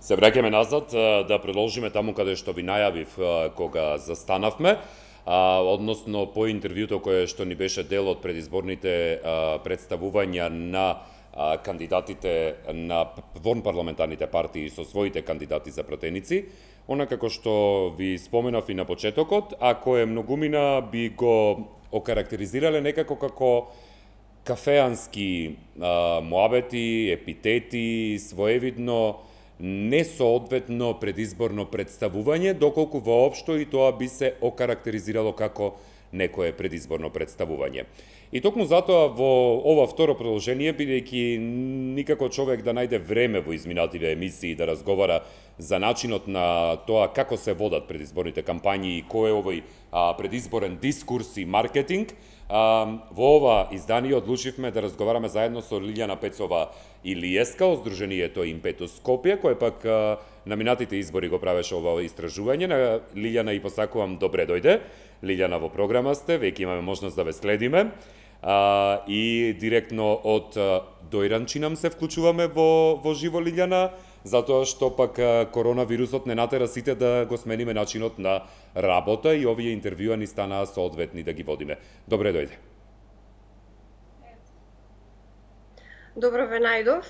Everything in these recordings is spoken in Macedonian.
Се враќаме назад да продолжиме таму каде што ви најавив кога застанавме, односно по интервјуто кое што ни беше дел од предизборните представувања на кандидатите на вонпарламентарните партии со своите кандидати за пратеници. Она како што ви споменав и на почетокот, ако е многумина би го окарактеризирале некако како кафеански муабети, епитети, своевидно несоодветно предизборно представување, доколку воопшто и тоа би се окарактеризирало како некое предизборно представување. И токму затоа во ова второ продолжение, бидејќи никако човек да најде време во изминативе емисии да разговара за начинот на тоа како се водат предизборните кампањи и кој е овој предизборен дискурс и маркетинг, во ова издание одлучивме да разговараме заедно со Лилјана Пецова Илиеска од Сдруженијето Импетус Скопје, кој пак на минатите избори го правеше ова истражување. На Лилјана и посакувам добре дојде. Лилјана, во програма сте, веќе имаме можност да ве следиме. И директно од Дојранчинам се вклучуваме во живо, Лилјана, затоа што пак коронавирусот не натера сите да го смениме начинот на работа и овие интервјуа ни станаа соодветни да ги водиме. Добре дојде. Добро ве најдов.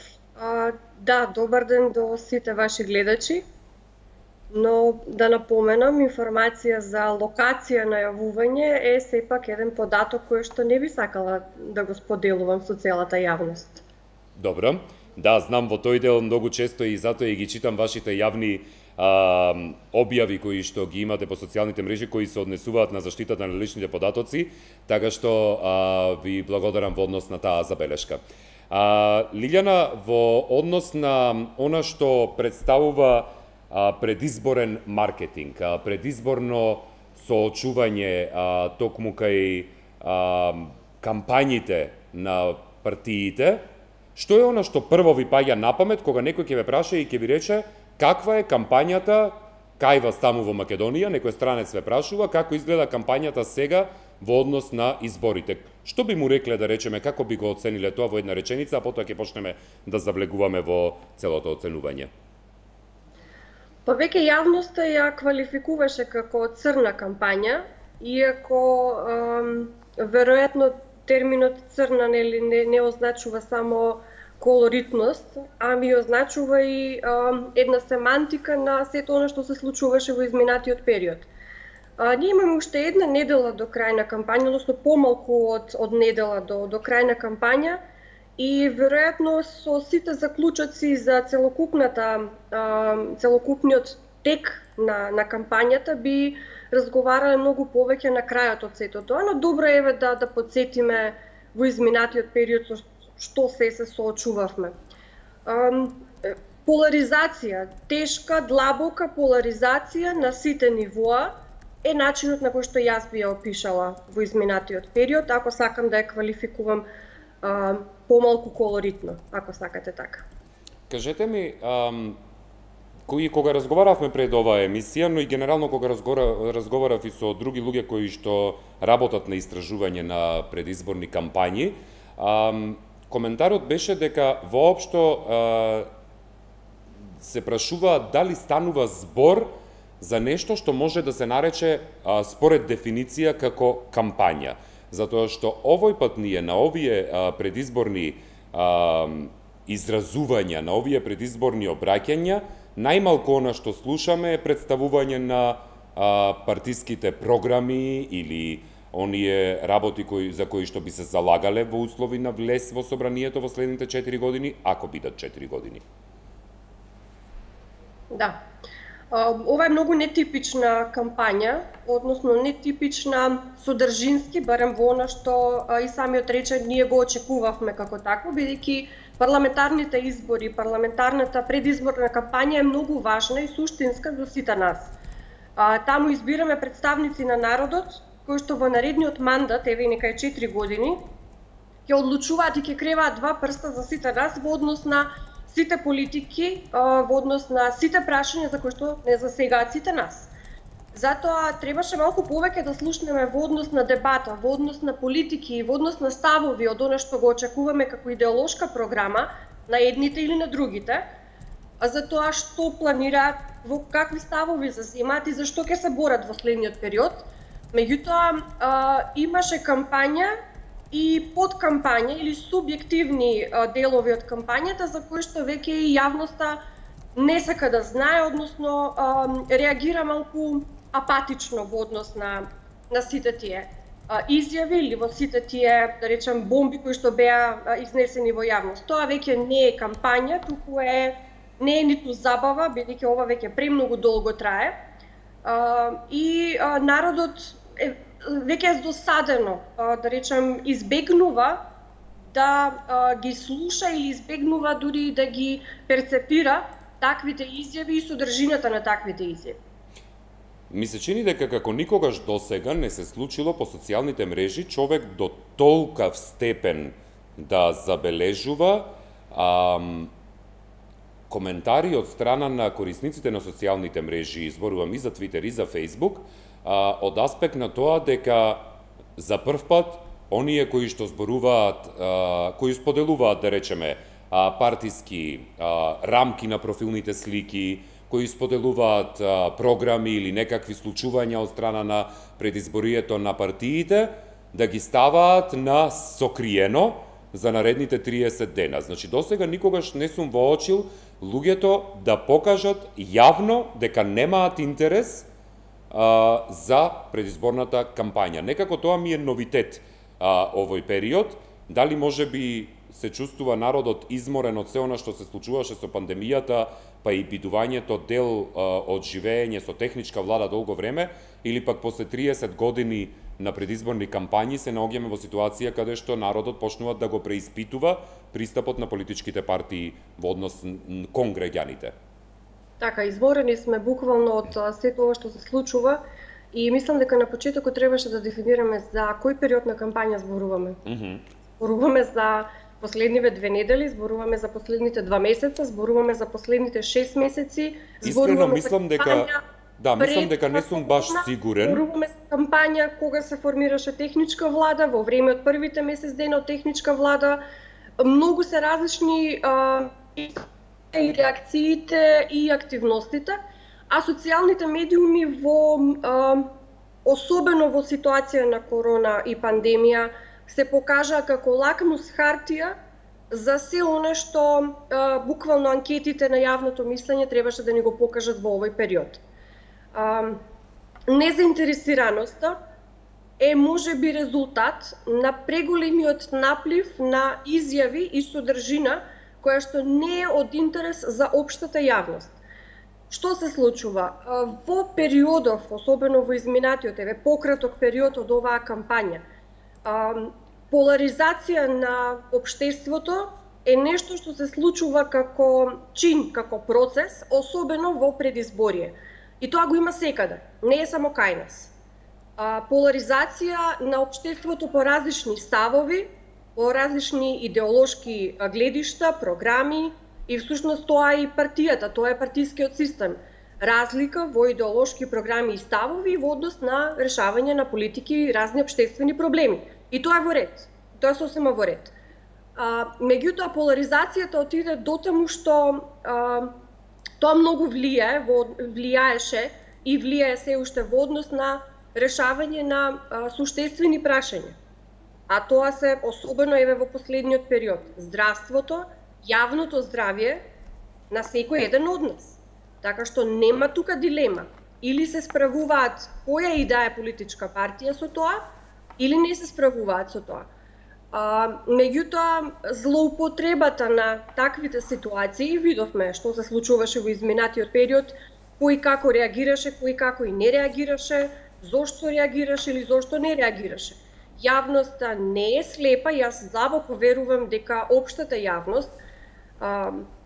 Да, добар ден до сите ваши гледачи. Но да напоменам, информација за локација на јавување е сепак еден податок кој што не би сакала да го споделувам со целата јавност. Добро. Да, знам во тој дел многу често и затоа и ги читам вашите јавни објави кои што ги имате по социјалните мрежи кои се однесуваат на заштитата на личните податоци, така што ви благодарам во однос на таа забелешка. Лилјана, во однос на она што представува предизборен маркетинг, предизборно соочување токму кај кампањите на партиите, што е она што прво ви паѓа на памет кога некој ќе ве праша и ќе ви рече каква е кампањата кај вас таму во Македонија, некој странец ве прашува како изгледа кампањата сега во однос на изборите. Што би му рекле, да речеме, како би го оцениле тоа во една реченица, а потоа ќе почнеме да завлегуваме во целото оценување? Па веќе јавноста ја квалификуваше како црна кампања, иако веројатно терминот црна не означува само колоритност, ами означува и една семантика на сето она што се случуваше во изминатиот период. Ние имаме уште една недела до крај на кампања, односно помалку од недела до крај на кампања, и веројатно со сите заклучоци за целокупниот тек на кампањата би разговарале многу повеќе на крајот од сето тоа, но добро е да подсетиме во изминатиот период со што се соочувавме. Поларизација, тешка, длабока поларизација на сите нивоа е начинот на кој што јас би ја опишала во изминатиот период, ако сакам да ја квалификувам помалку колоритно, ако сакате така. Кажете ми, кога разговаравме пред оваа емисија, но и генерално кога разговарав и со други луѓе кои што работат на истражување на предизборни кампањи, коментарот беше дека воопшто се прашува дали станува збор за нешто што може да се нарече според дефиниција како кампања. Затоа што овој пат ние на овие предизборни изразувања, на овие предизборни обраќања, најмалку она што слушаме е представување на партиските програми или оние работи за кои што би се залагале во услови на влез во собранието во следните 4 години, ако бидат 4 години. Да. Ова е многу нетипична кампања, односно нетипична содржински, барем во она што и самиот рече ние го очекувавме како такво, бидејќи парламентарните избори, парламентарната предизборна кампања е многу важна и суштинска за сите нас. Таму избираме представници на народот, кои што во наредниот мандат, еве нека е 4 години, ќе одлучуваат и ќе креваат два прста за сите нас во однос на сите политики, во однос на сите прашања за кои што не засегаат сите нас. Затоа требаше малку повеќе да слушнеме во однос на дебата, во однос на политики, во однос на ставови од она што го очекуваме како идеолошка програма на едните или на другите, за тоа што планираат, во какви ставови заземаат и зашто ќе се борат во следниот период. Меѓутоа, имаше кампања и подкампања или субјективни делови од кампањата за кои што веќе и јавноста не сака да знае, односно реагира малку апатично во однос на сите тие изјави или во сите тие, да речем, бомби кои што беа изнесени во јавност. Тоа веќе не е кампања, туку не е ниту забава, бидејќи ова веќе премногу долго трае. И народот веќе е досадено, да речем, избегнува да ги слуша или избегнува дури да ги перцепира таквите изјави и содржината на таквите изјави. Ми се чини дека како никогаш досега не се случило по социјалните мрежи човек до толкав степен да забележува коментари од страна на корисниците на социјалните мрежи, зборувам и за Твитер и за Фејсбук, од аспект на тоа дека за прв пат оние кои што зборуваат, кои споделуваат, да речеме, партиски рамки на профилните слики, кои споделуваат програми или некакви случувања од страна на предизборието на партиите, да ги ставаат на сокриено за наредните 30 дена. Значи, досега никогаш не сум воочил луѓето да покажат јавно дека немаат интерес за предизборната кампања. Некако тоа ми е новитет овој период. Дали може би се чувствува народот изморен од се она што се случуваше со пандемијата, па и бидувањето дел од живење со техничка влада долго време, или пак после 30 години на предизборни кампањи се наоѓаме во ситуација каде што народот почнува да го преиспитува пристапот на политичките партии во однос кон граѓаните. Така, изморени сме буквално од сето ова што се случува и мислам дека на почетокот требаше да дефинираме за кој период на кампања зборуваме. Зборуваме за последниве 2 недели, зборуваме за последните 2 месеца, зборуваме за последните 6 месеци, Искрено мислам дека мислам дека не сум баш сигурен. Зборуваме за кампања кога се формираше техничка влада, во време од првите месец дена од техничка влада. Многу се различни и реакциите и активностите, а социјалните медиуми особено во ситуација на корона и пандемија се покажа како лакмус хартија за се оно што буквално анкетите на јавното мислење требаше да ни го покажат во овој период. Незаинтересираноста е можеби резултат на преголемиот наплив на изјави и содржина која што не е од интерес за општата јавност. Што се случува? Во периодов, особено во изминатиот, пократок период од оваа кампања, поларизација на општеството е нешто што се случува како чин, како процес, особено во предизборие. И тоа го има секаде, не е само кај нас. Поларизација на општеството по различни ставови, по различни идеолошки гледишта, програми и всушност тоа е и партијата, тоа е партискиот систем. Разлика во идеолошки програми и ставови во однос на решавање на политики и разни општествени проблеми. И тоа е во ред. Тоа е сосема во ред. Меѓутоа, поларизацијата отиде дотаму што тоа многу влијаеше и влијае се уште во однос на решавање на суштествени прашања. А тоа се особено во последниот период. Здравството, јавното здравје на секој еден од нас. Така што нема тука дилема. Или се справуваат која и да е политичка партија со тоа, или не се справуваат со тоа. Меѓутоа, злоупотребата на таквите ситуации, видовме што се случуваше во изминатиот период, кој како реагираше, кој како и не реагираше, зошто реагираше или зошто не реагираше. Јавноста не е слепа, јас длабоко верувам дека општата јавност,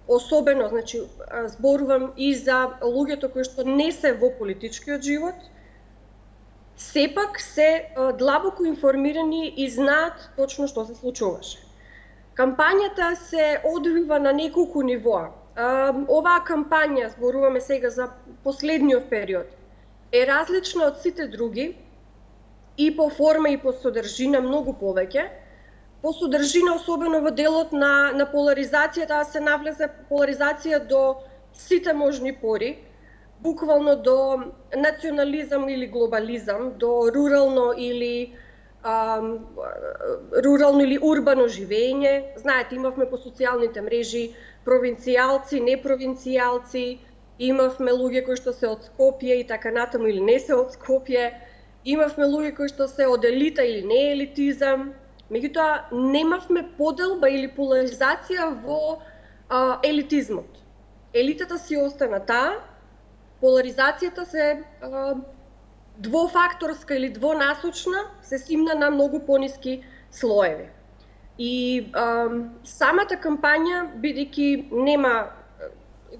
особено, значи, зборувам и за луѓето кои што не се во политичкиот живот, сепак се длабоко информирани и знаат точно што се случуваше. Кампањата се одвива на неколку нивоа. Оваа кампања, зборуваме сега за последниот период, е различна од сите други и по форма и по содржина многу повеќе. По содржина, особено во делот на поларизацијата, се навлезе поларизација до сите можни пори, буквално до национализам или глобализам, до рурално или урбано живење. Знаете, имавме по социјалните мрежи провинцијалци, непровинцијалци, имавме луѓе кои што се од Скопје и така натаму или не се од Скопје, имавме луѓе кои што се од елита или не елитизам. Меѓутоа, немавме поделба или поларизација во елитизмот. Елитата си остана таа, поларизацијата се двофакторска или двонасочна, се симна на многу пониски слоеви. И самата кампања, бидејќи нема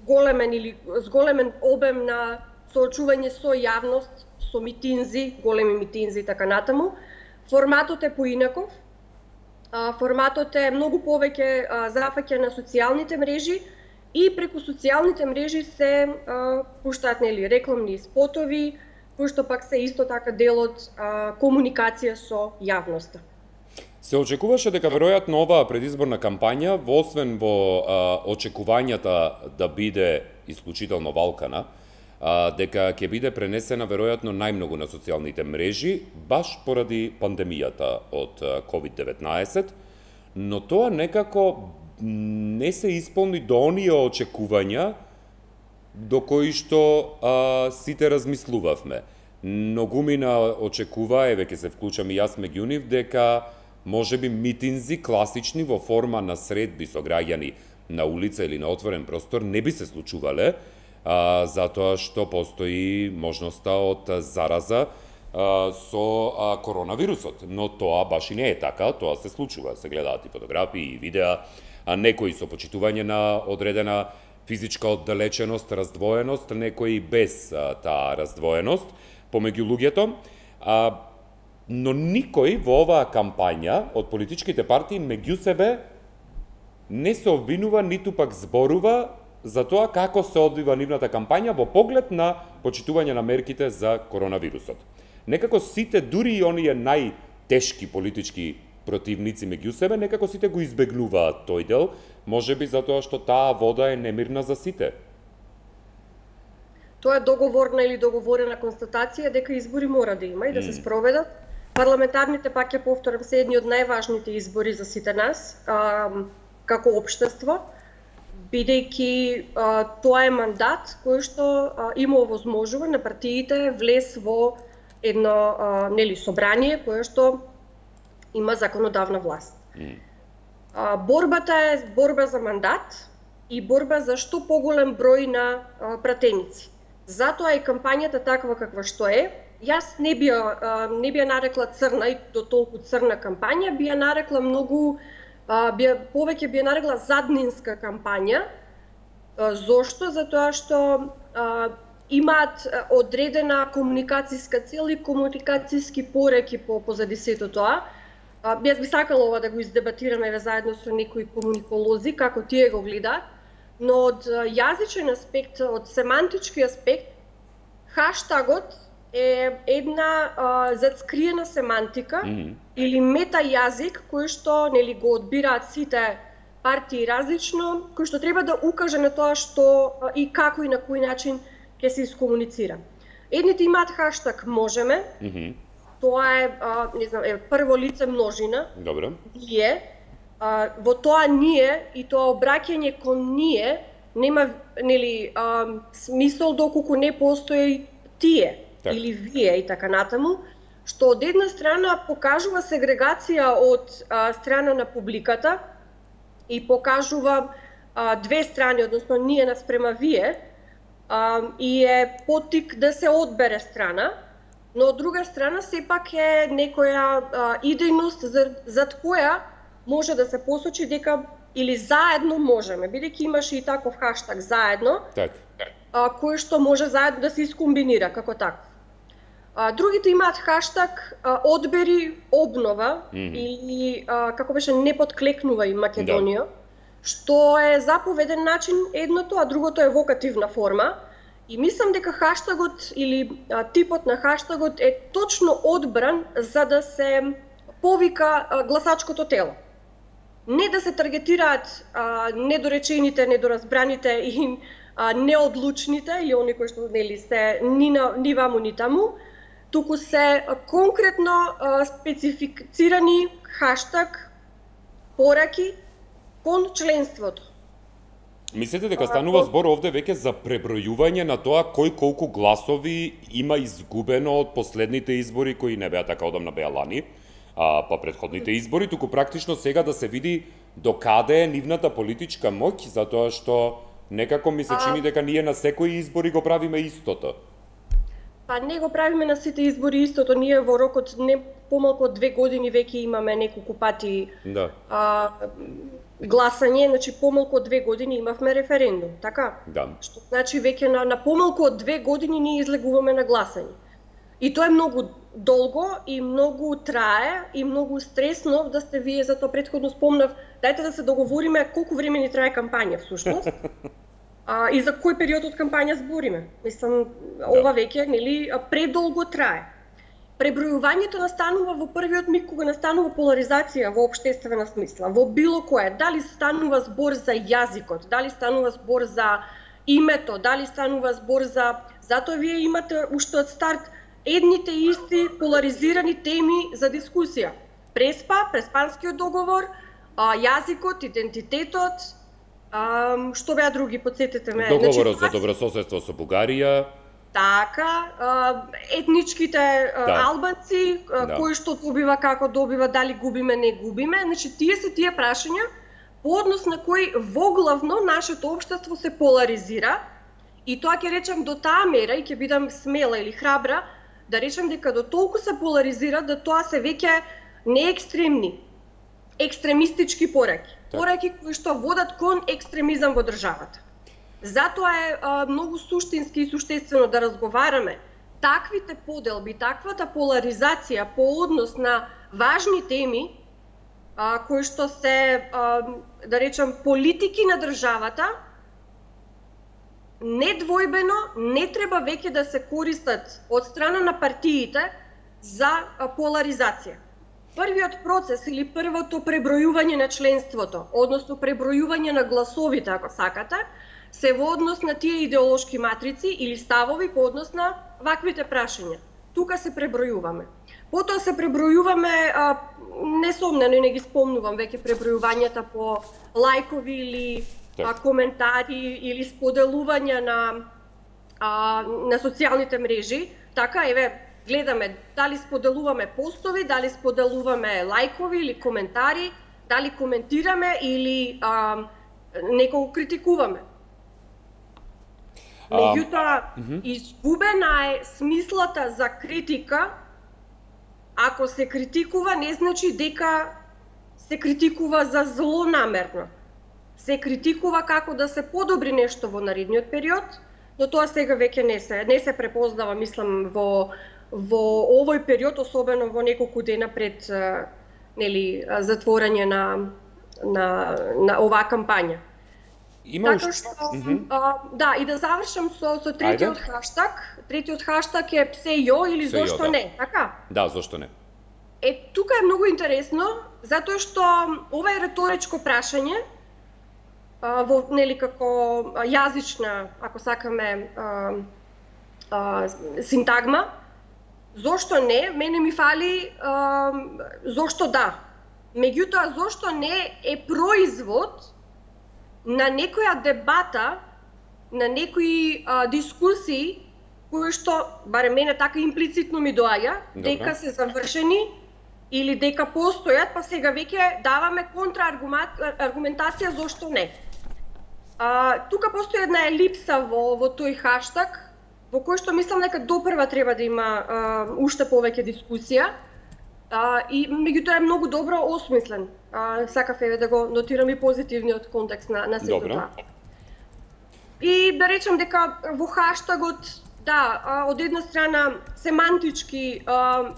големен или зголемен обем на соочување со јавност, со митинзи, големи митинзи и така натаму, форматот е поинаков. Форматот е многу повеќе зафаќа на социјалните мрежи и преку социјалните мрежи се пуштаат рекламни спотови, кои што пак се исто така дел од комуникација со јавноста. Се очекуваше дека веројатно оваа предизборна кампања, освен во очекувањата да биде исклучително валкана, дека ќе биде пренесена веројатно најмногу на социјалните мрежи, баш поради пандемијата од COVID-19, но тоа некако не се исполни до оние очекувања до кои што сите размислувавме. Многумина очекува, еве ќе се вклучам и јас меѓу нив, дека можеби митинзи класични во форма на средби со граѓани на улица или на отворен простор не би се случувале, затоа што постои можноста од зараза со коронавирусот. Но тоа баш и не е така, тоа се случува. Се гледаат и фотографии, и видеа, некои со почитување на одредена физичка оддалеченост, раздвоеност, некои без таа раздвоеност помеѓу луѓето. Но никој во оваа кампања од политичките партии меѓу себе не се обвинува, ниту пак зборува за тоа како се одвива нивната кампања во поглед на почитување на мерките за коронавирусот. Некако сите, дури и оние најтешки политички противници меѓу себе, некако сите го избегнуваат тој дел, можеби затоа што таа вода е немирна за сите. Тоа е договорна или договорена констатација дека избори мора да има и да се спроведат. Парламентарните, пак ќе повторам, се едни од најважните избори за сите нас, како општество, бидејќи тоа е мандат кој што има овозможува на партиите влез во едно собрание кое што има законодавна власт. Борбата е борба за мандат и борба за што поголем број на пратеници. Затоа и кампањата таква каква што е. Јас не би ја нарекла црна и до толку црна кампања, би ја нарекла повеќе би ја нарекла заднинска кампања. Зошто? Затоа што имаат одредена комуникацијска цел и комуникацијски пореки позади сето тоа. Јас би сакала ова да го издебатираме заедно со некои комуниколози, како тие го гледаат, но од јазичен аспект, од семантички аспект, хаштагот е една зацкриена семантика или мета јазик кој што го одбираат сите партии различно, кој што треба да укаже на тоа што и како и на кој начин ќе се искомуницира. Едните имаат хаштаг можеме, тоа е прво лице множина. Добро. Ние, во тоа ние и тоа обраќање кон ние нема смисол доколку не постои тие или вие и така натаму, што од една страна покажува сегрегација од страна на публиката и покажува две страни, односно ние наспрема вие, и е поттик да се одбере страна, но од друга страна сепак е некоја идејност зад која може да се посочи дека или заедно можеме, бидејќи имаше и таков хаштаг заедно, кој што може заедно да се искомбинира како таков. Другите имаат хаштаг одбери обнова или како беше не подклекнувај Македонија, што е заповеден начин едното, а другото е вокативна форма. И мислам дека хаштагот или типот на хаштагот е точно одбран за да се повика гласачкото тело. Не да се таргетираат недоречените, недоразбраните и неодлучните или они кои што нели се ни ваму ни таму, туку се конкретно специфицирани хаштаг пораки кон членството. Мислите дека станува збор овде веќе за пребројување на тоа кој колку гласови има изгубено од последните избори кои не беа така одамна, беа лани, па претходните избори, туку практично сега да се види докаде е нивната политичка моќ, затоа што некако ми се чини дека ние на секои избори го правиме истото. Па не го правиме на сите избори истото, ние во рокот не помалку од 2 години веќе имаме неколку пати гласање, значи помалку од 2 години имавме референдум, така? Да. Што значи веќе на помалку од 2 години ние излегуваме на гласање. И тоа е многу долго и многу трае и многу стресно да сте вие, затоа претходно спомнав, дајте да се договориме колку време ни трае кампања всушност. И за кој период од кампања збориме. Мислам, ова веќе нели предолго трае. Пребројувањето настанува во првиот миг кога настанува поларизација во општествена смисла, во било кое, дали станува збор за јазикот, дали станува збор за името, дали станува збор за... Затоа вие имате уште од старт едните исти поларизирани теми за дискусија. Преспанскиот договор, јазикот, идентитетот, што беа други, подсетете ме. Договорот за добрососедство со Бугарија. Така, етничките албанци, кој што добива, како добива, дали губиме, не губиме. Значи, тие се тие прашања по однос на кои воглавно нашето општество се поларизира. И тоа ќе речам до таа мера, и ќе бидам смела или храбра, да речам дека до толку се поларизира да тоа се веќе не екстремни, екстремистички пораки. Пораки кои што водат кон екстремизам во државата. Затоа е многу суштински и суштествено да разговараме таквите поделби, таквата поларизација по однос на важни теми, кои што се, да речем, политики на државата, недвојбено не треба веќе да се користат од страна на партиите за поларизација. Првиот процес или првото пребројување на членството, односно пребројување на гласовите, ако сакате, се во однос на тие идеолошки матрици или ставови по однос на ваквите прашања. Тука се пребројуваме. Потоа се пребројуваме, несомнено и не ги спомнувам веќе пребројувањата по лајкови или коментари или споделување на социјалните мрежи. Така, еве, гледаме дали споделуваме постови, дали споделуваме лајкови или коментари, дали коментираме или некого критикуваме. Меѓутоа, изгубена е смислата за критика. Ако се критикува, не значи дека се критикува за злонамерно. Се критикува како да се подобри нешто во наредниот период, но тоа сега веќе не се препознава, мислам, во овој период, особено во неколку дена пред затворање на оваа кампања. Така што, да, и да завршам со третиот хаштаг. Третиот хаштаг е псе јо или зошто не, така? Да, зошто не. Тука е многу интересно, затоа што ова е реторичко прашање, во како јазична, ако сакаме, синтагма. Зошто не? Мене ми фали зошто да. Меѓутоа, зошто не е производ на некоја дебата, на некои дискусии, кои што, барем мене така имплицитно ми доаѓа, дека се завршени или дека постојат, па сега веќе даваме контрааргументација зошто не. Тука постои една елипса во тој хаштаг, во кој што мислам дека допрва треба да има уште повеќе дискусија, и меѓутоа е многу добро осмислен. Сакав да го нотирам и позитивниот контекст на сето тоа. И да речем дека во хаштагот, да, од една страна семантички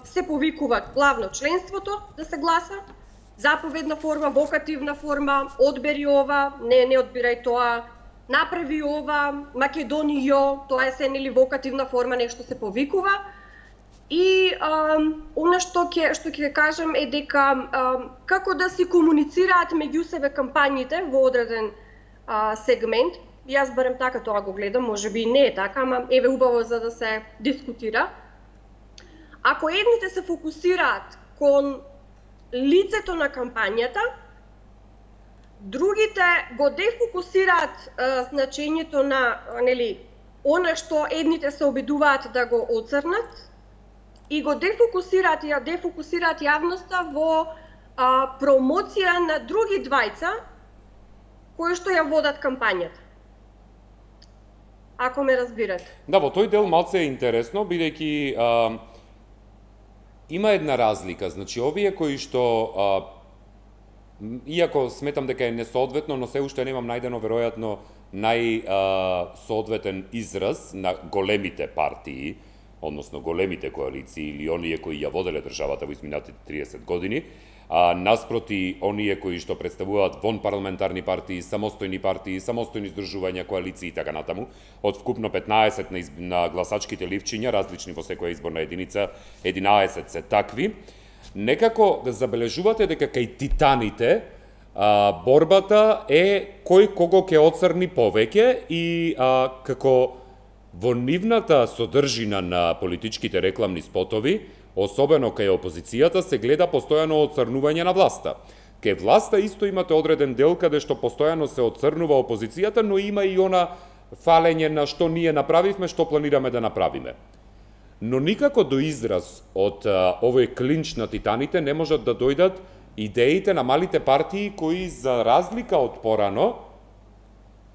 се повикува главно членството да се гласа, заповедна форма, вокативна форма, одбери ова, не одбирај тоа, направи ова, Македонијо, тоа е се нели вокативна форма, нешто се повикува. И она што ќе кажам е дека како да си комуницираат меѓу себе кампањите во одреден сегмент, јас барем така тоа го гледам, можеби не е така, ама еве убаво за да се дискутира. Ако едните се фокусираат кон лицето на кампањата, другите го дефокусираат значењето на, нели, она што едните се обидуваат да го оцрнат и го дефокусираат јавноста во промоција на други двајца кои што ја водат кампањата. Ако ме разбирате. Да, во тој дел малце е интересно, бидејќи има една разлика. Значи, овие кои што, иако сметам дека е несоодветно, но се уште немам најдено веројатно најсоодветен израз на големите партии, односно големите коалиции или оние кои ја воделе државата во изминатите 30 години, наспроти оние кои што представуваат вон парламентарни партии, самостојни здружувања, коалиции и така натаму, од вкупно 15 на гласачките ливчиња, различни во секоја изборна единица, 11 се такви, некако забележувате дека кај титаните борбата е кој кого ќе оцрни повеќе и како во нивната содржина на политичките рекламни спотови, особено кај опозицијата, се гледа постојано оцрнување на власта. Кај власта исто имате одреден дел каде што постојано се оцрнува опозицијата, но има и она фалење на што ние направивме, што планираме да направиме. Но никако до израз од овој клинч на титаните не можат да дојдат идеите на малите партии кои, за разлика од порано,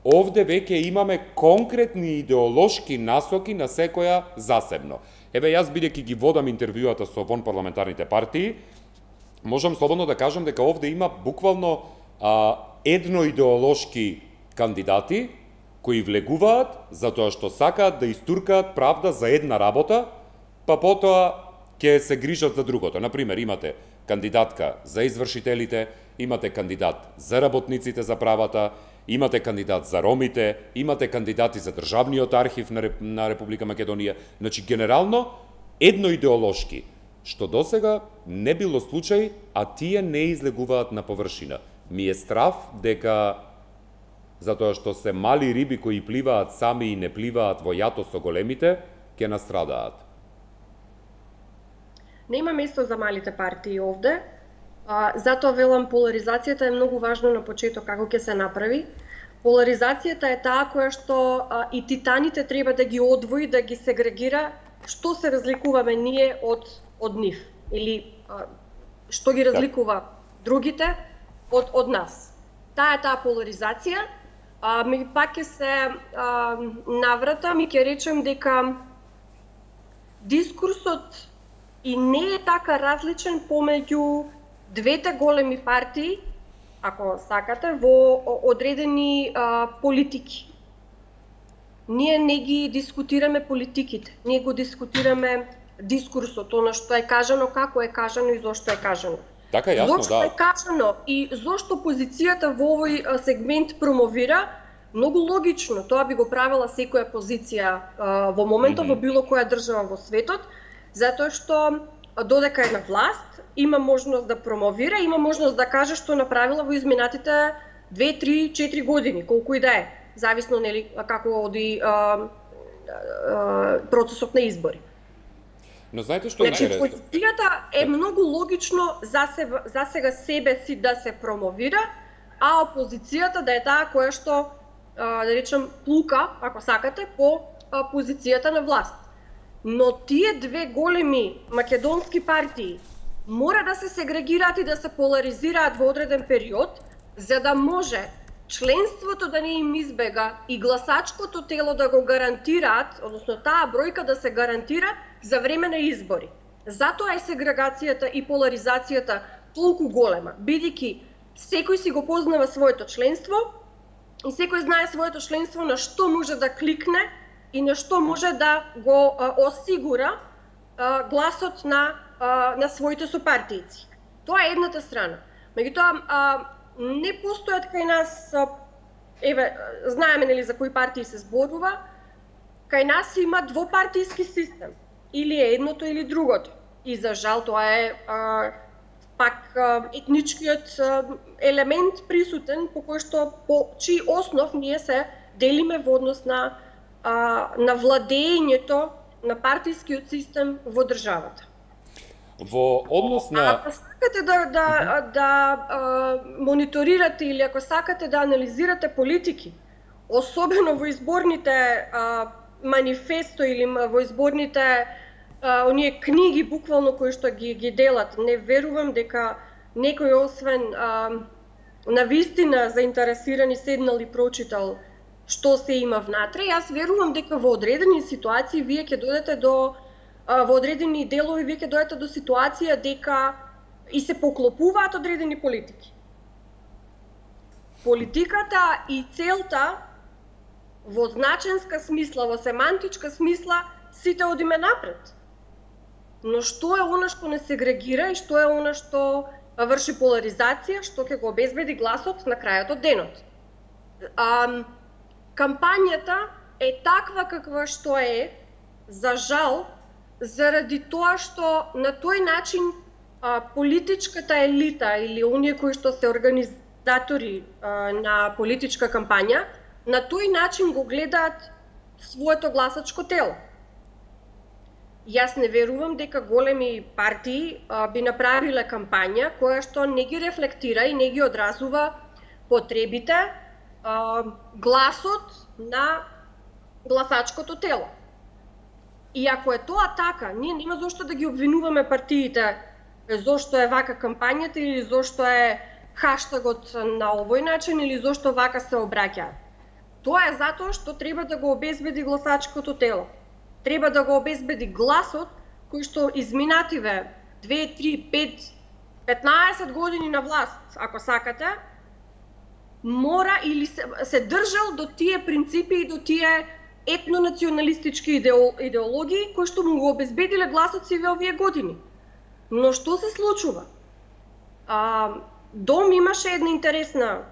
овде веќе имаме конкретни идеолошки насоки на секоја засебно. Еве, јас бидејќи ги водам интервјуата со вон парламентарните партии, можам слободно да кажам дека овде има буквално едноидеолошки кандидати кои влегуваат затоа што сакаат да истуркаат правда за една работа, па потоа ќе се грижат за другото. Например, имате кандидатка за извршителите, имате кандидат за работниците за правата, имате кандидат за ромите, имате кандидати за државниот архив на Република Македонија. Значи, генерално, едноидеолошки, што досега не било случај, а тие не излегуваат на површина. Ми е страв дека, затоа што се мали риби кои пливаат сами и не пливаат во јато со големите, ќе настрадаат. Нема место за малите партии овде. Затоа велам, поларизацијата е многу важна на почеток како ќе се направи. Поларизацијата е таа која што и титаните треба да ги одвои, да ги сегрегира, што се разликуваме ние од нив, или што ги разликува другите од нас. Таа е таа поларизација. Ми пак ќе се навратам и ќе речем дека дискурсот и не е така различен помеѓу двете големи партии, ако сакате, во одредени политики. Ние не ги дискутираме политиките, ние го дискутираме дискурсот, она што е кажано, како е кажано и зошто е кажано. Така јасно, зошто е кажано и зошто позицијата во овој сегмент промовира, многу логично, тоа би го правила секоја позиција во моментот во било која држава во светот, затоа што додека е на власт, има можност да промовира, има можност да каже што направила во изминатите 2, 3, 4 години, колку и да е, зависно нели како оди процесот на избори. Но знаете што е интересно? Значи, позицијата е многу логично за сега себе си да се промовира, а опозицијата да е таа која што, да речем, плука, ако сакате, по позицијата на власт. Но тие две големи македонски партии мора да се сегрегираат и да се поларизираат во одреден период, за да може членството да не им избега и гласачкото тело да го гарантираат, односно таа бројка да се гарантира за време на избори. Затоа е сегрегацијата и поларизацијата толку голема, бидејќи секој си го познава своето членство и секој знае своето членство на што може да кликне и на што може да го осигура гласот на своите сопартијци. Тоа е едната страна. Меѓутоа, не постојат кај нас, еве, знаеме нели за кои партии се зборува, кај нас има двопартијски систем. Или е едното или другото. И за жал тоа е пак етничкиот елемент присутен по кој што, по чиј основ ние се делиме во однос на владеењето на партискиот систем во државата. Во однос на... Ако сакате да мониторирате или ако сакате да анализирате политики, особено во изборните манифесто или во изборните оние книги буквално кои што ги делат, не верувам дека некој освен навистина заинтересирани седнал и прочитал што се има внатре. Јас верувам дека во одредени ситуации вие ќе дојдете до во одредени делови вие ќе дојдете до ситуација дека и се поклопуваат одредени политики. Политиката и целта во значенска смисла, во семантичка смисла, сите одиме напред. Но што е она што не сегрегира и што е она што врши поларизација, што ќе го обезбеди гласот на крајот од денот? Кампањата е таква каква што е, за жал, заради тоа што на тој начин политичката елита или оние кои што се организатори на политичка кампања, на тој начин го гледаат своето гласачко тело. Јас не верувам дека големи партии би направиле кампања која што не ги рефлектира и не ги одразува потребите, гласот на гласачкото тело. И ако е тоа така, ние нема зошто да ги обвинуваме партиите зошто е вака кампањата или зошто е хаштагот на овој начин или зошто вака се обраќаат. Тоа е затоа што треба да го обезбеди гласачкото тело. Треба да го обезбеди гласот кој што изминативе 2, 3, 5, 15 години на власт, ако сакате, мора или се држал до тие принципи и до тие етнонационалистички идеологии кои што му го обезбедиле гласот сиве овие години. Но што се случува? Дом имаше една интересна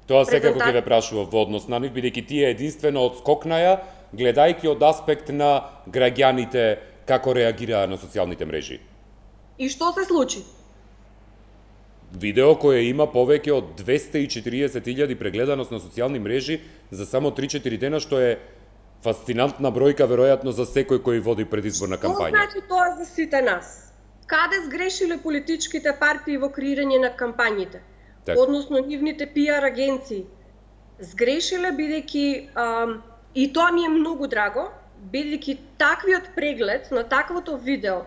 Тоа секако ќе ве прашував во однос на нив, бидејќи тие единствено одскокнаја, гледајќи од аспект на граѓаните како реагираа на социјалните мрежи. И што се случи? Видео кое има повеќе од 240.000 прегледаност на социјални мрежи за само 3-4 дена, што е фасцинантна бројка веројатно за секој кој води предизборна кампања. Што значи тоа за сите нас? Каде сгрешиле политичките партии во креирање на кампањите? Односно нивните PR агенции? Сгрешиле бидејќи, и тоа ми е многу драго, бидејќи таквиот преглед на таквото видео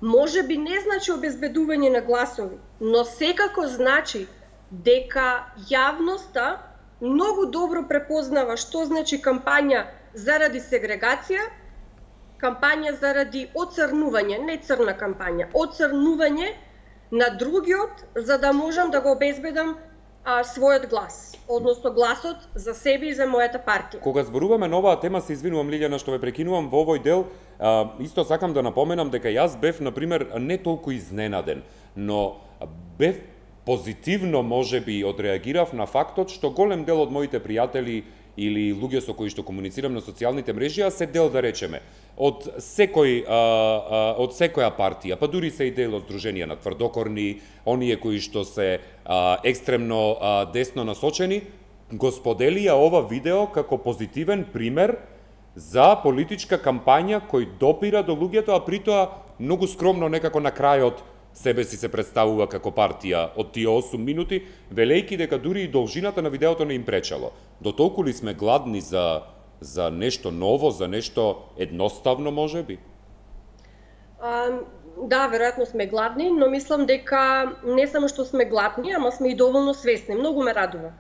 може би не значи обезбедување на гласови, но секако значи дека јавноста многу добро препознава што значи кампања заради сегрегација, кампања заради оцрнување, не црна кампања, оцрнување на другиот, за да можам да го обезбедам својот глас, односно гласот за себе и за мојата партија. Кога зборуваме на оваа тема, се извинувам Лилјана што ве прекинувам во овој дел, исто сакам да напоменам дека јас бев, например, не толку изненаден, но бев позитивно можеби одреагирав на фактот што голем дел од моите пријатели или луѓе со кои што комуницирам на социјалните мрежи, а се дел, да речеме, од секоја партија, па дури се и дел од Сдруженија на тврдокорни, оние кои што се екстремно десно насочени, го споделија ова видео како позитивен пример за политичка кампања кој допира до луѓето, а при тоа многу скромно некако на крајот себе си се представува како партија од тие 8 минути, велејки дека дури и должината на видеото не им пречало. До толку ли сме гладни за нешто ново, за нешто едноставно, можеби? Да, веројатно сме гладни, но мислам дека не само што сме гладни, ама сме и доволно свесни. Многу ме радува.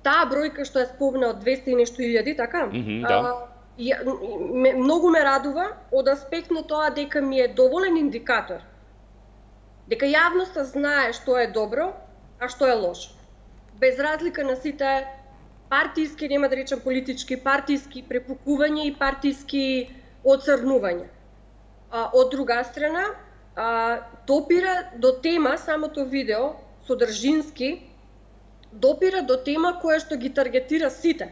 Таа бројка што е спомна од 200 и нешто илјади, така? Да. Многу ме радува од аспект на тоа дека ми е доволен индикатор. Дека јавноста знае што е добро, а што е лошо. Без разлика на сите партиски, нема да речам политички, партиски препукувања и партиски оцрнувања. Од друга страна, допира до тема, самото видео, содржински, допира до тема која што ги таргетира сите.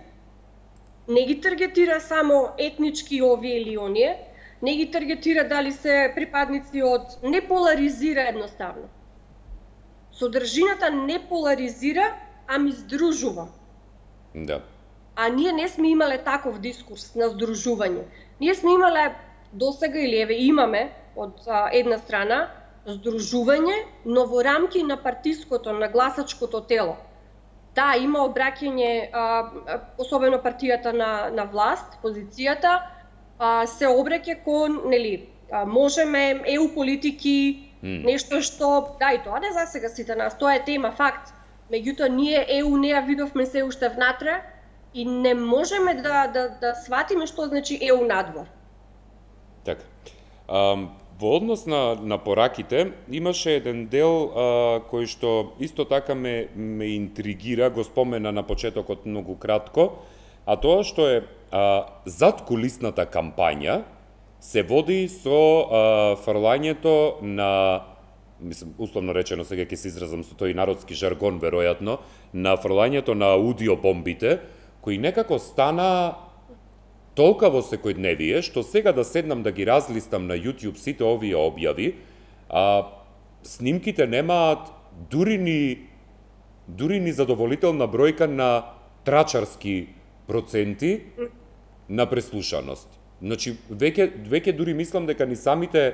Не ги таргетира само етнички овие или оние, не ги таргетира дали се припадници од... Не поларизира едноставно. Содржината не поларизира, ами здружува. Да. А ние не сме имале таков дискурс на здружување. Ние сме имале досега или еве имаме од една страна здружување, но во рамки на партиското, на гласачкото тело. Да, има обраќање, особено партијата на власт, позицијата, се обраќа кон, нели, можеме, EU политики, нешто што, да, и тоа не за сега сите нас, тоа е тема, факт. Меѓутоа, ние EU не ја видовме се уште внатре и не можеме да сватиме што значи EU надвор. Така. Во однос на пораките, имаше еден дел кој што исто така ме интригира, го спомена на почетокот многу кратко, а тоа што е задкулисната кампања се води со фрлањето на, мислам, условно речено, сега ќе се изразам со тој народски жаргон, веројатно, на фрлањето на аудиобомбите, кои некако стана толкаво секојдневие, што сега да седнам да ги разлистам на YouTube сите овие објави, снимките немаат дури ни задоволителна бројка на трачарски проценти на преслушаност. Значи, веќе дури мислам дека ни самите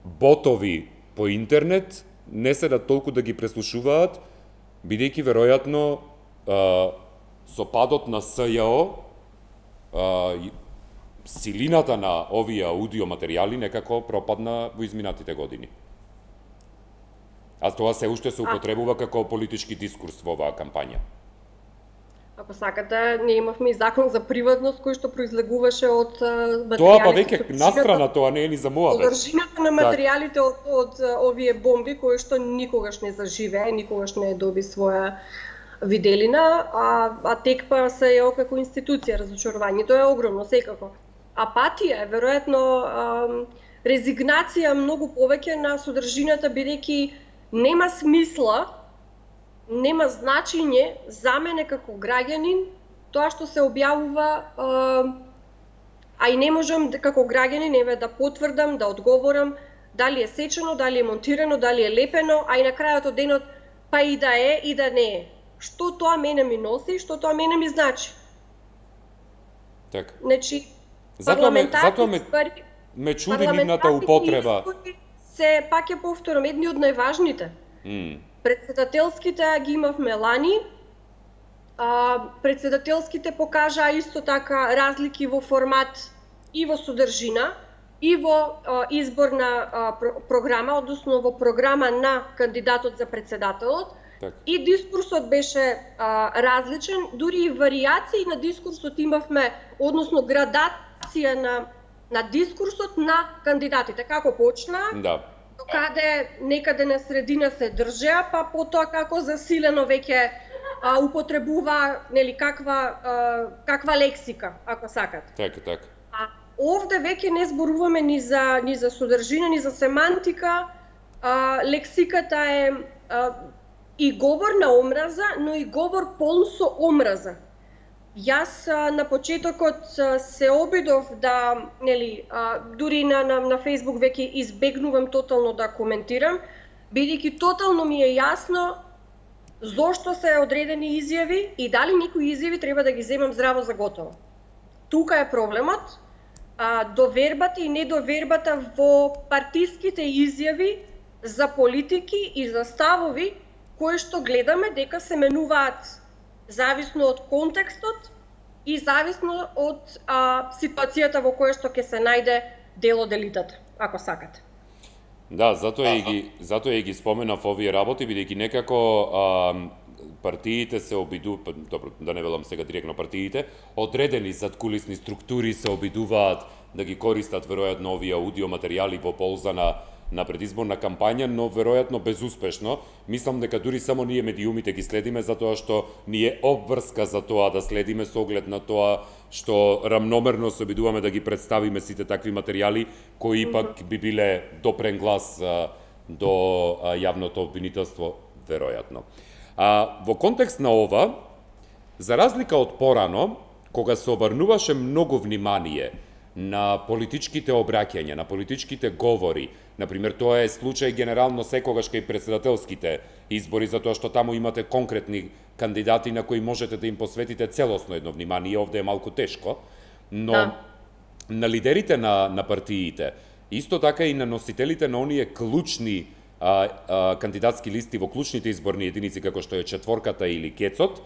ботови по интернет не се да толку да ги преслушуваат, бидејќи веројатно со падот на СЈО силината на овие аудио материјали некако пропадна во изминатите години. А тоа се уште се употребува како политички дискурс во оваа кампања. Ако сакате, ние имавме и закон за приватност кој што произлегуваше од материјалите. Тоа па веќе настрана, тоа не е ни за муабет. Содржината на материјалите од овие бомби кои што никогаш не заживее, никогаш не доби своја виделина, а текпа СЈО како институција, разочарувањето е огромно секако. Апатија е веројатно резигнација многу повеќе на содржината, бидејќи нема смисла, нема значење за мене како граѓанин тоа што се објавува, а и не можам како граѓанин еве да потврдам, да одговорам дали е сечено, дали е монтирано, дали е лепено, а и на крајот од денот па и да е и да не е. Што тоа мене ми носи, што тоа мене ми значи. Така. Значи, затоа ме чуди нивната употреба. Се, пак ја повторам, едни од најважните. Председателските ги имавме лани, председателските покажаа исто така разлики во формат и во содржина, и во изборна програма, односно во програма на кандидатот за председателот. И дискурсот беше различен, дури и варијации на дискурсот имавме, односно градација на дискурсот на кандидатите. Како почна, до каде некаде на средина се држеа, па потоа како засилено веќе употребува, нели, каква лексика, ако сакат. Така. Овде веќе не зборуваме ни за содржина, ни за семантика. Лексиката е и говор на омраза, но и говор полн со омраза. Јас на почетокот се обидов да, нели, дури на Facebook веќе избегнувам тотално да коментирам, бидејќи тотално ми е јасно зошто се одредени изјави и дали некои изјави треба да ги земам здраво за готово. Тука е проблемот, довербата и недовербата во партиските изјави за политики и за ставови кои што гледаме дека се менуваат зависно од контекстот и зависно од ситуацијата во која што ќе се најде дел од елитата, ако сакате. Да, затоа и ги споменав овие работи, бидејќи некако партиите се обидуваат, добро, да не велам сега директно партиите, одредени задкулисни структури се обидуваат да ги користат веројатно овие аудио материјали во полза на предизборна кампања, но веројатно безуспешно. Мислам дека дури само ние медиумите ги следиме затоа што ни е обврска за тоа да следиме со оглед на тоа што рамномерно се обидуваме да ги представиме сите такви материјали кои ипак би биле допрен глас до јавното обвинителство, веројатно. Во контекст на ова, за разлика од порано, кога се обрнуваше многу внимание на политичките обраќања, на политичките говори. Например, тоа е случај генерално секогаш кај председателските избори, затоа што таму имате конкретни кандидати на кои можете да им посветите целосно едно внимание. Овде е малку тешко, но на лидерите на партиите, исто така и на носителите на оние клучни кандидатски листи во клучните изборни единици, како што е четворката или кецот,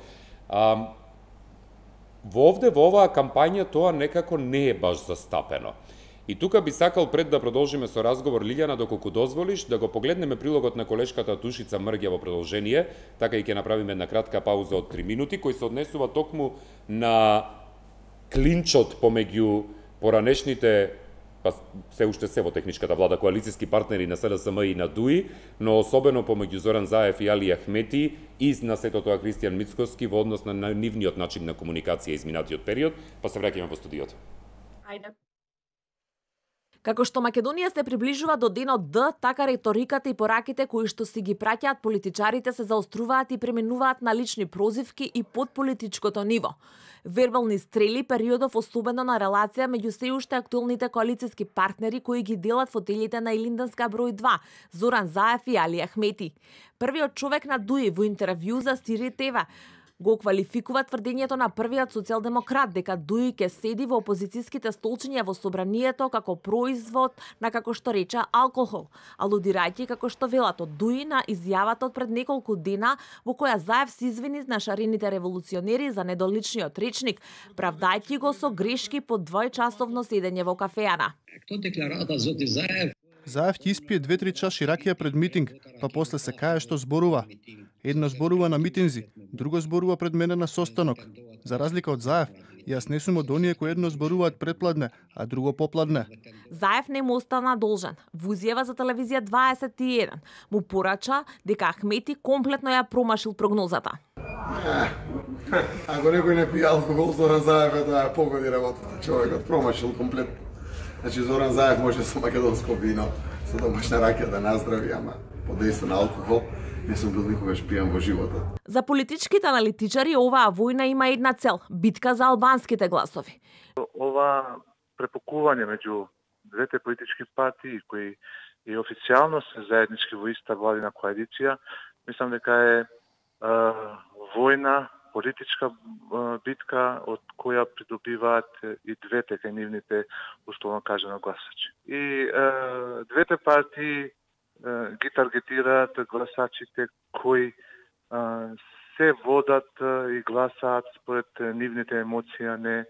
во оваа кампања тоа некако не е баш застапено. И тука би сакал пред да продолжиме со разговор, Лилјана, доколку дозволиш, да го погледнеме прилогот на колешката Душица Мрѓа во продолжение, така и ќе направиме една кратка пауза од 3 минути, кој се однесува токму на клинчот помеѓу поранешните, па се уште се во техничката влада, коалициски партнери на СДСМ и на ДУИ, но особено помеѓу Зоран Заев и Али Ахмети и на сето тоа Кристијан Мицкоски во однос на нивниот начин на комуникација изминатиот период, па се враќаме во студиото. Ајде. Како што Македонија се приближува до денот Д, така риториката и пораките кои што си ги праќаат политичарите се заоструваат и преминуваат на лични прозивки и под политичкото ниво. Вербални стрели периодов особено на релација меѓу се уште актуелните коалициски партнери кои ги делат фотелите на Илинденска број 2, Зоран Заев и Али Ахмети. Првиот човек на ДУИ во интервју за Сири ТВ го квалификува тврдењето на првиот социјалдемократ дека ДУИ ке седи во опозицијските столчиња во собранието како производ на, како што рече, алкохол, алудирајќи како што велат од ДУИ на изјавата од пред неколку дена во која Заев се извини на шарените револуционери за недоличниот речник, правдајќи го со грешки по двојчасовно седење во кафеана. Заев ќе испие 2-3 чаши ракија пред митинг, па после се кае што зборува. Едно зборува на митинзи, друго зборува пред мене на состанок. За разлика од Заев, јас не сум од оние кои едно зборуваат предпладне, а друго попладне. Заев не му остана должен. Во изјава за телевизија 21 му порача дека Ахмети комплетно ја промашил прогнозата. Ако некој не пие алкохол, Зоран Заев е да погоди работата. Човекот промашил комплетно. Значи, Зоран Заев може со македонско вино, со домашна ракија да наздрави, ама под дејство на алкохол не сум бил никогаш пијан во животот. За политичките аналитичари оваа војна има една цел – битка за албанските гласови. Ова препокување меѓу двете политички партии кои и официјално се заеднички во иста владина коалиција, мислам дека е војна, политичка битка од која придобиваат и двете кај нивните, условно кажано, гласачи. И двете партии ги таргетираат гласачите кои се водат и гласаат според нивните емоции, а не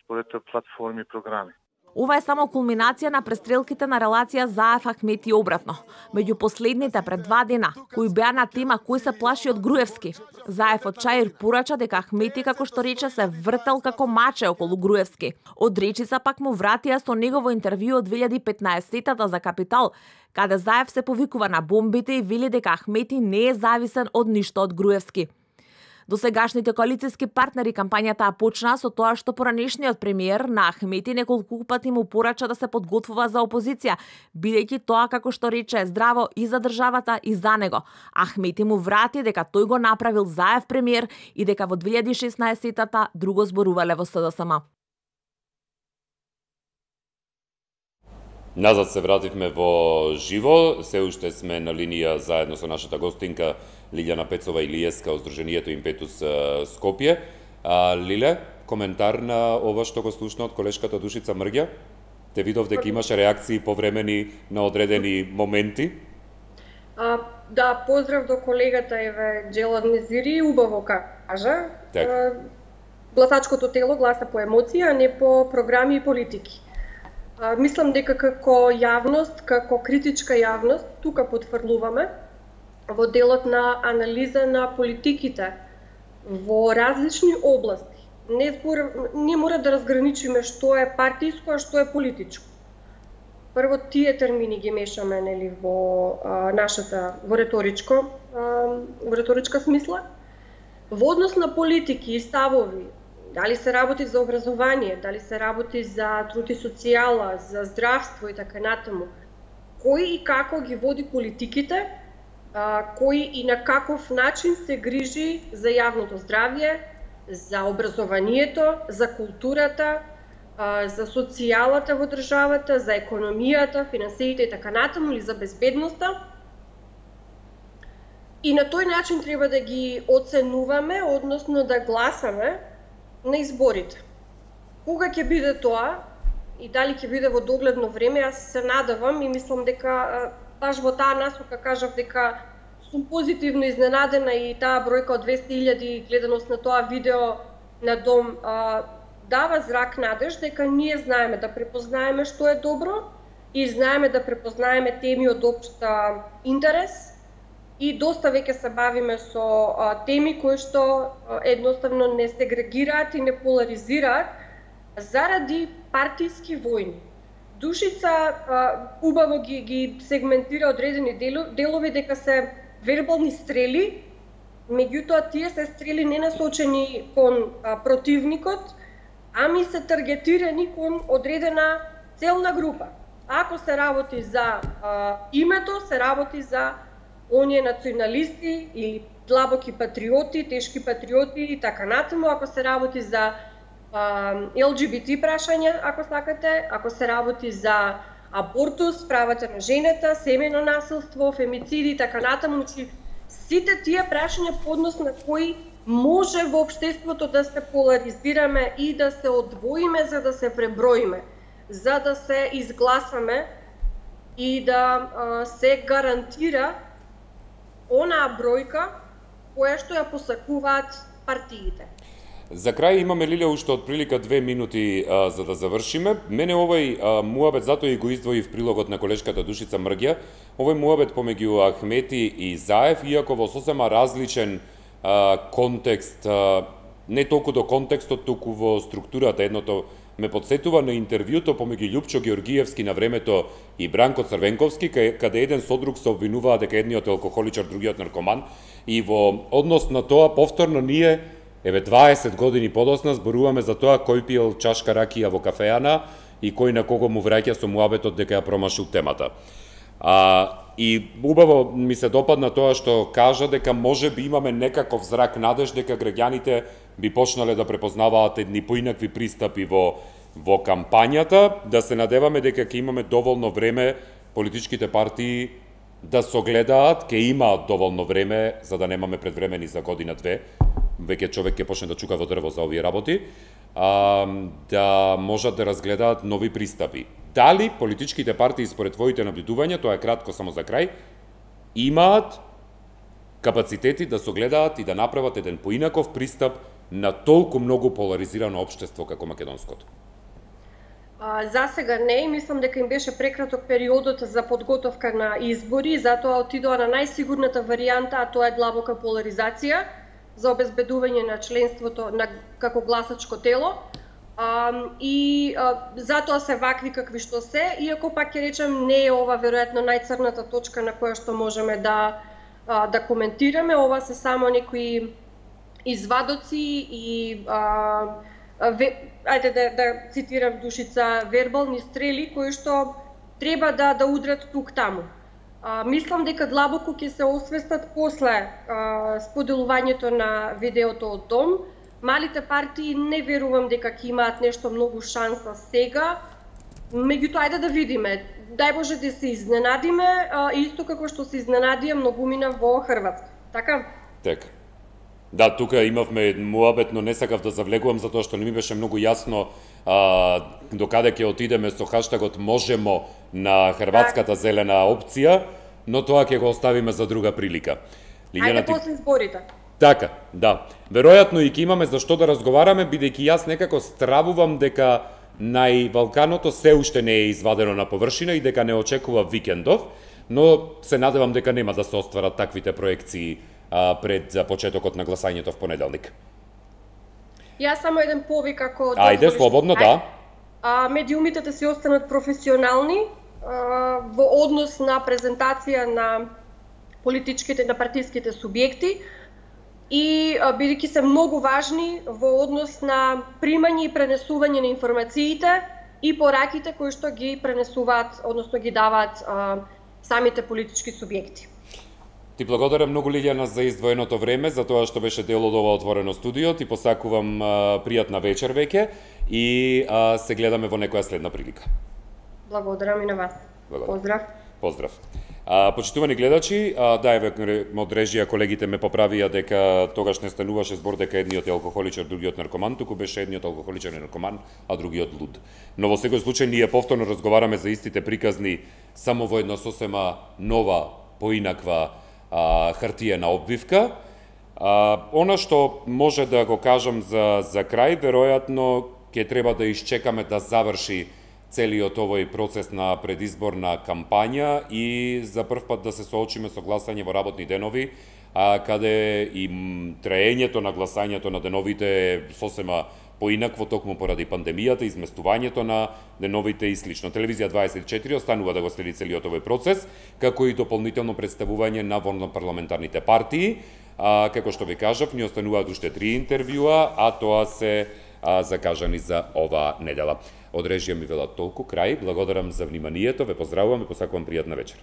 според платформи и програми. Ова е само кулминација на престрелките на релација Заев Ахмети обратно. Меѓу последните пред 2 дена, кои беа на тема кој се плаши од Груевски. Заев од Чаир порача дека Ахмети, како што рече, се вртел како маче околу Груевски. Од речица пак му вратија со негово интервју од 2015-тата за Капитал, каде Заев се повикува на бомбите и вели дека Ахмети не е зависен од ништо од Груевски. Досегашните коалициски партнери кампањата почна со тоа што поранешниот премиер на Ахмети неколку пати му порача да се подготвува за опозиција, бидејќи тоа, како што рече, е здраво и за државата и за него. Ахмети му врати дека тој го направил Заев премиер и дека во 2016-тата друго зборувале во СДСМ. Назад се вративме во живо, се уште сме на линија заедно со нашата гостинка Лилјана Пецова Илиевска од Сдруженијето Импетус Скопје. Лиле, коментар на ова што го слушна од колешката Душица Мрѓа? Те видов дека имаше реакции повремени на одредени моменти? Да, поздрав до колегата Еве Джелад Незири, убаво кажа. Гласачкото тело гласа по емоција, а не по програми и политики. Мислам дека како јавност, како критичка јавност, тука потврдуваме во делот на анализа на политиките во различни области. Не мора да разграничиме што е партиско, а што е политичко. Прво тие термини ги мешаме, нели, во нашата во реторичка смисла. Во однос на политики и ставови, дали се работи за образование, дали се работи за труд и социјала, за здравство и така натаму, кој и како ги води политиките, кој и на каков начин се грижи за јавното здравје, за образованието, за културата, за социјалата во државата, за економијата, финансиите и така натаму, или за безбедноста. И на тој начин треба да ги оценуваме, односно да гласаме на изборите. Кога ќе биде тоа и дали ќе биде во догледно време, јас се надевам и мислам дека баш во таа насока кажав дека сум позитивно изненадена и таа бројка од 200.000 гледаност на тоа видео на Дом дава зрак надеж дека ние знаеме да препознаеме што е добро и знаеме да препознаеме теми од општ интерес и доста веќе се бавиме со теми кои што едноставно не сегрегираат и не поларизираат заради партиски војни. Душица убаво ги сегментира одредени делови дека се вербални стрели, меѓутоа тие се стрели не насочени кон противникот, ами се таргетирани кон одредена целна група. Ако се работи за името, се работи за оние националисти или длабоки патриоти, тешки патриоти и така натаму, ако се работи за ЛГБТ прашања, ако сакате, ако се работи за абортус, правата на жената, семејно насилство, фемициди и така натаму, сите тие прашања по однос на кои може во општеството да се поларизираме и да се одвоиме за да се преброиме, за да се изгласаме и да се гарантира онаа бројка која што ја посакуваат партиите. За крај имаме, Лилија, уште отприлика 2 минути за да завршиме. Мене овој муабет, затоа и го издвоив прилогот на колешката Душица Мрѓа, овој муабет помеѓу Ахмети и Заев, иако во сосема различен контекст, не толку до контекстот, туку во структурата. Едното ме подсетува на интервјуто помеѓу Љупчо Георгиевски на времето и Бранко Црвенковски, каде еден со друг се обвинуваа дека едниот е алкохоличар, другиот наркоман, и во однос на тоа повторно ние 20 години подосна зборуваме за тоа кој пиел чашка ракија во кафеана и кој на кого му враќа со муабетот дека ја промашил темата. И убаво ми се допадна тоа што кажа дека може би имаме некаков зрак надеж дека граѓаните би почнале да препознаваат едни поинакви пристапи во кампањата, да се надеваме дека ќе имаме доволно време политичките партии да согледаат, ќе имаат доволно време за да немаме предвремени за година-две, веќе човек ќе почне да чука во дрво за овие работи, да можат да разгледаат нови пристапи. Дали политичките партии според твоите наблюдувања, тоа е кратко само за крај, имаат капацитети да согледаат и да направат еден поинаков пристап на толку многу поларизирано општество како македонското? За сега не, и мислам дека им беше прекраток периодот за подготовка на избори, затоа отидоа на најсигурната варијанта, а тоа е длабока поларизација за обезбедување на членството како гласачко тело. Затоа се вакви какви што се, иако пак ќе речем не е ова веројатно најцрната точка на која што можеме да коментираме. Ова се само некои извадоци и ајде да цитирам Душица, вербални стрели кои што треба да удрат тук таму. Мислам дека длабоко ќе се освестат после споделувањето на видеото од Дом. Малите партии не верувам дека ќе имаат нешто многу шанса сега, меѓутоа ајде да видиме. Дај Боже да се изненадиме, исто како што се изненадија многумина во Хрватска. Така? Така. Да, тука имавме муабет, но не сакав да завлегувам затоа што не ми беше многу јасно до каде ќе отидеме со хаштагот можемо на хрватската зелена опција, но тоа ќе го оставиме за друга прилика. Ајде после изборите. Така, да. Веројатно и ќе имаме за што да разговараме, бидејќи јас некако стравувам дека највалканото се уште не е извадено на површина и дека не очекува викендов, но се надевам дека нема да се остварат таквите проекции пред почетокот на гласањето в понеделник. Јас само еден повик ако Ајде, слободно, да. Медиумите да се останат професионални во однос на презентација на политичките, на партиските субјекти и бидејќи се многу важни во однос на примање и пренесување на информациите и пораките кои што ги пренесуваат, односно ги даваат самите политички субјекти. Ти благодарам многу, Лилјана, за издвоеното време, за тоа што беше дел од ова отворено студио. Ти посакувам пријатна вечер веќе и се гледаме во некоја следна прилика. Благодарам и на вас. Поздрав. Поздрав. Почитувани гледачи, да, еве од режија колегите ме поправија дека тогаш не стануваше збор дека едниот е алкохоличар, другиот наркоман, туку беше едниот алкохоличар и наркоман, а другиот луд. Но во секој случај ние повторно разговараме за истите приказни само во една сосема нова, поинаква хартиена обвивка. Она што може да го кажам за крај, веројатно ќе треба да изчекаме да заврши целиот овој процес на предизборна кампања и за прв пат да се соочиме со гласање во работни денови, каде и траењето на гласањето на деновите е сосема поинакво токму поради пандемијата, изместувањето на деновите и слично. Телевизија 24 останува да го следи целиот овој процес, како и дополнително представување на парламентарните партии. Како што ви кажав, ни остануваат уште 3 интервјуа, а тоа се закажани за ова недела. Од режија ми велат толку, крај. Благодарам за вниманието, ве поздравувам и посакувам пријатна вечер.